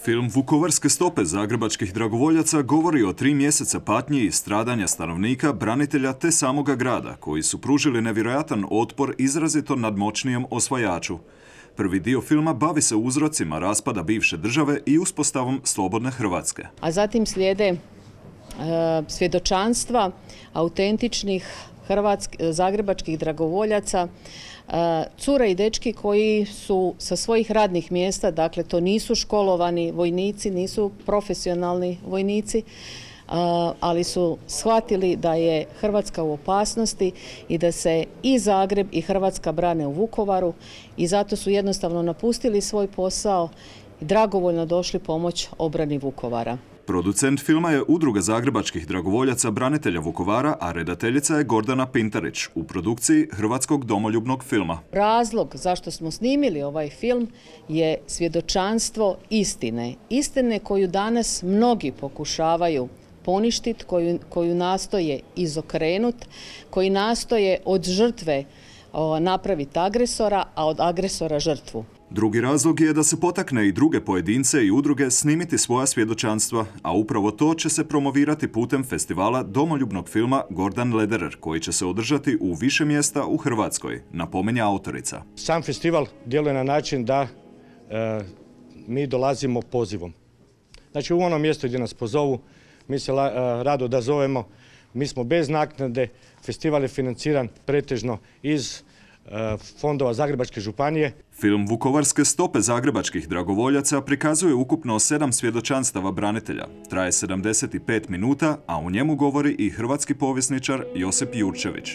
Film Vukovarske stope zagrebačkih dragovoljaca govori o 3 mjeseca patnji i stradanja stanovnika, branitelja te samoga grada, koji su pružili nevjerojatan otpor izrazito nadmoćnijem osvajaču. Prvi dio filma bavi se uzrocima raspada bivše države i uspostavom slobodne Hrvatske. A zatim slijede svjedočanstva autentičnih zagrebačkih dragovoljaca, cure i dečki koji su sa svojih radnih mjesta, dakle to nisu školovani vojnici, nisu profesionalni vojnici, ali su shvatili da je Hrvatska u opasnosti i da se i Zagreb i Hrvatska brane u Vukovaru i zato su jednostavno napustili svoj posao i dragovoljno došli pomoć obrani Vukovara. Producent filma je Udruga zagrebačkih dragovoljaca branitelja Vukovara, a redateljica je Gordana Pintarić u produkciji Hrvatskog domoljubnog filma. Razlog zašto smo snimili ovaj film je svjedočanstvo istine. Istine koju danas mnogi pokušavaju poništiti, koju nastoje izokrenuti, koji nastoje od žrtve napraviti agresora, a od agresora žrtvu. Drugi razlog je da se potakne i druge pojedince i udruge snimiti svoja svjedočanstva, a upravo to će se promovirati putem festivala domoljubnog filma Gordan Lederer, koji će se održati u više mjesta u Hrvatskoj, napominje autorica. Sam festival djeluje na način da mi dolazimo pozivom. Znači u onom mjestu gdje nas pozovu, mi se rado odazovemo, mi smo bez naknade, festival je financiran pretežno iz fondova Zagrebačke županije. Film Vukovarske stope zagrebačkih dragovoljaca prikazuje ukupno 7 svjedočanstava branitelja. Traje 75 minuta, a u njemu govori i hrvatski povjesničar Josip Jurčević.